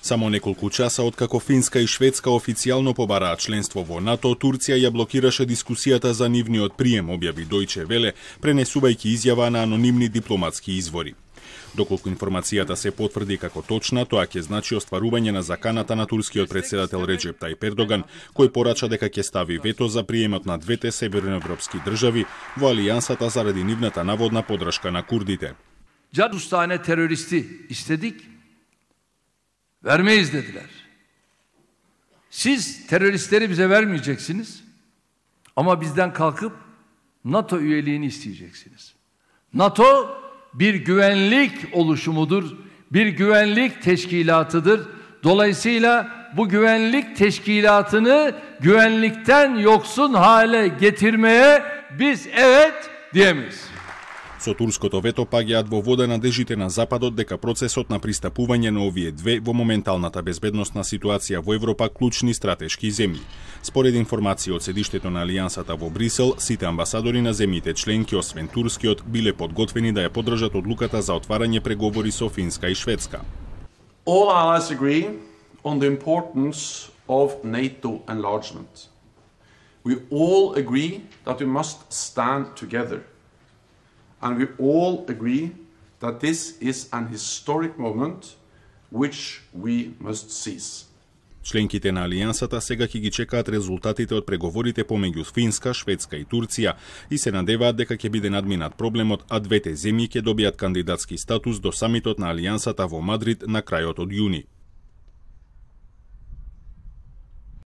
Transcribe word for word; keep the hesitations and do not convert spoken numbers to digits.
Само неколку часа откако Финска и Шведска официјално побараат членство во НАТО, Турција ја блокираше дискусијата за нивниот прием, објави Дојче Веле, пренесувајќи изјава на анонимни дипломатски извори. Доколку информацијата се потврди како точна, тоа ќе значи остварување на заканата на турскиот председател Реджеп Тајип Ердоган, кој порача дека ќе стави вето за приемот на двете северноевропски држави во алијансата заради нивната наводна подршка на курдите. otuz tane teröristi istedik, vermeyiz dediler. Siz teröristleri bize vermeyeceksiniz ama bizden kalkıp NATO üyeliğini isteyeceksiniz. NATO bir güvenlik oluşumudur, bir güvenlik teşkilatıdır. Dolayısıyla bu güvenlik teşkilatını güvenlikten yoksun hale getirmeye biz evet diyemeyiz. Со турското вето паѓаат во вода надежите на Западот дека процесот на пристапување на овие две во моменталната безбедносна ситуација во Европа клучни стратешки земји. Според информации од седиштето на Алијансата во Брисел, сите амбасадори на земјите членки, освен турскиот, биле подготвени да ја поддржат одлуката за отварање преговори со Финска и Шведска. All allies agree on the importance of NATO enlargement. We all agree that we must stand together. And we all agree that this is an historic moment which we must seize. Членките на Алијансата сега ќе ги чекаат резултатите од преговорите помеѓу Финска, Шведска и Турција и се надеваат дека ќе биде надминат проблемот, а двете земји ќе добијат кандидатски статус до самитот на Алијансата во Мадрид на крајот од јуни.